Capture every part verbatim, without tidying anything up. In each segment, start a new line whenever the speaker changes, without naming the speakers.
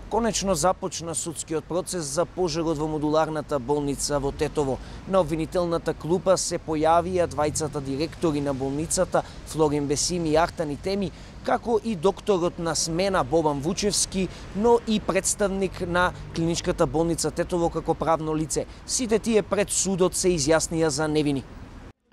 Конечно започна судскиот процес за пожарот во модуларната болница во Тетово. На обвинителната клупа се појавија двајцата директори на болницата, Флорин Бесими и Ахтан Теми, како и докторот на смена Бобан Вучевски, но и представник на клиничката болница Тетово како правно лице. Сите тие пред судот се изјаснија за невини.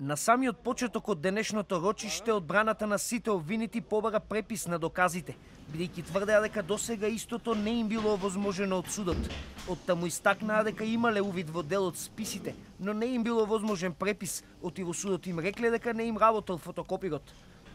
На самиот почеток од денешното рочиште одбраната на сите обвинети побара препис на доказите, бидејќи тврдеа дека досега истото не им било овозможено од судот. Оттаму истакнаа дека имале увид во дел од списите, но не им било возможен препис, оти во судот им рекле дека не им работел фотокопирот.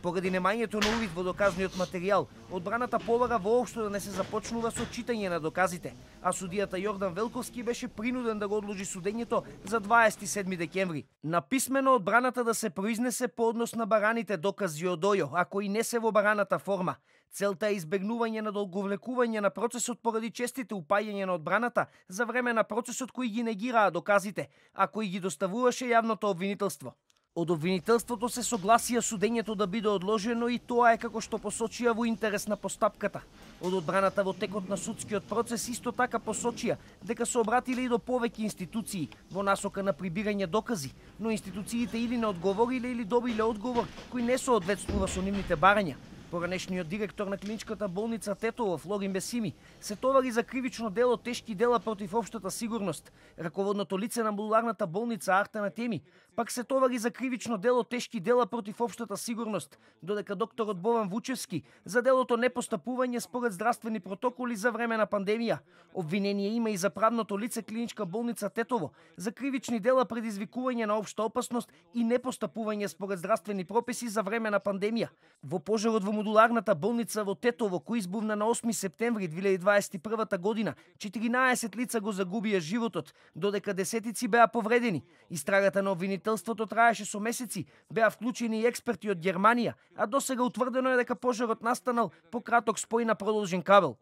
Поради немањето на увид во доказниот материјал, одбраната побара воопшто да не се започнува со читање на доказите, а судијата Јордан Велковски беше принуден да го одложи судењето за дваесет и седми декември. На писмено одбраната да се произнесе по однос на бараните докази од ОЈО, ако и не се во бараната форма. Целта е избегнување на долговлекување на процесот поради честите упаѓања на одбраната за време на процесот кои ги негираа доказите, а кои ги доставуваше јавното обвинителство. Од обвинителството се согласија судењето да биде одложено и тоа е како што посочија во интерес на постапката. Од одбраната во текот на судскиот процес исто така посочија дека се обратиле и до повеќе институции во насока на прибирање докази, но институциите или не одговориле или добиле одговор кој не соодветствува со нивните барања. Поранешниот директор на клиничката болница Тетово, Флорин Бесими, се товари за кривично дело тешки дела против општата сигурност. Раководното лице на модуларната болница Ахтан Теми пак се товари за кривично дело тешки дела против општата сигурност, додека докторот Бобан Вучевски за делото непостапување според здравствени протоколи за време на пандемија. Обвинение има и за правното лице клиничка болница Тетово за кривични дела предизвикување на општа опасност и непостапување според здравствени прописи за време на пандемија. Во пожарот во модуларната болница во Тетово, кој избувна на осми септември две илјади дваесет и прва година, четиринаесет лица го загубија животот, додека десетици беа повредени. Истрагата на обвинителството траеше со месеци, беа вклучени и експерти од Германија, а досега утврдено е дека пожарот настанал по краток спој на продолжен кабел.